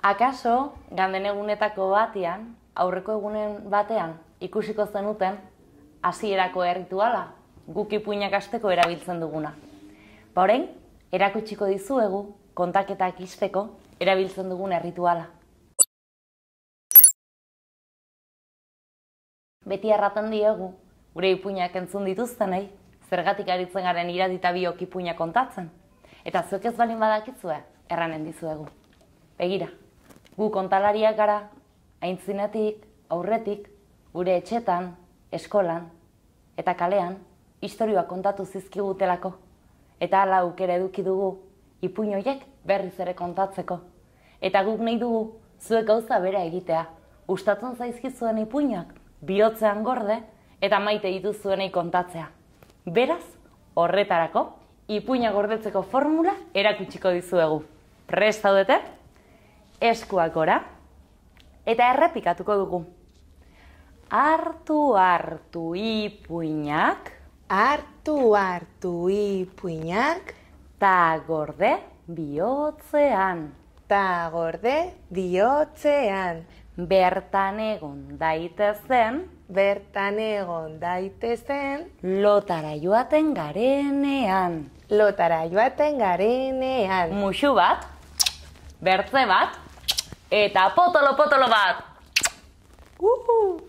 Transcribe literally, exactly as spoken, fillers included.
Akaso, ganden egunetako batean, aurreko egunen batean, ikusiko zenuten, hasierako errituala, guk ipuinak hasteko erabiltzen duguna. Ba orain, erakutsiko dizuegu, kontaketak ixteko, erabiltzen dugun errituala. Beti erraten diegu, gure ipuinak entzun dituztenei, zergatik aritzen garen iradita biok ipuinak kontatzen. Eta zuek ez balin badakitzue, erranen dizuegu. Begira, gu kontalariak gara, aintzinetik, aurretik, gure etxetan, eskolan, eta kalean, istorioak kontatu zizkigutelako. Eta hala aukera eduki dugu, ipuin horiek berriz ere kontatzeko. Eta guk nahi dugu, zuek gauza bera egitea. Gustatzen zaizkizuen ipuinak, bihotzean gorde, eta maite dituzuenei kontatzea. Beraz, horretarako, ipuina gordetzeko formula erakutsiko dizuegu. Prest zaudete? Eskuak gora, eta errepikatuko dugu. Hartu hartu ipuinak, Hartu hartu ipuinak, ta gorde bihotzean. ta gorde bihotzean. Bertan egon daitezen, Bertan egon daitezen, lotara joaten garenean. lotara joaten garenean. Muxu bat, bertze bat, eta potolo-potolo bat. Uhu!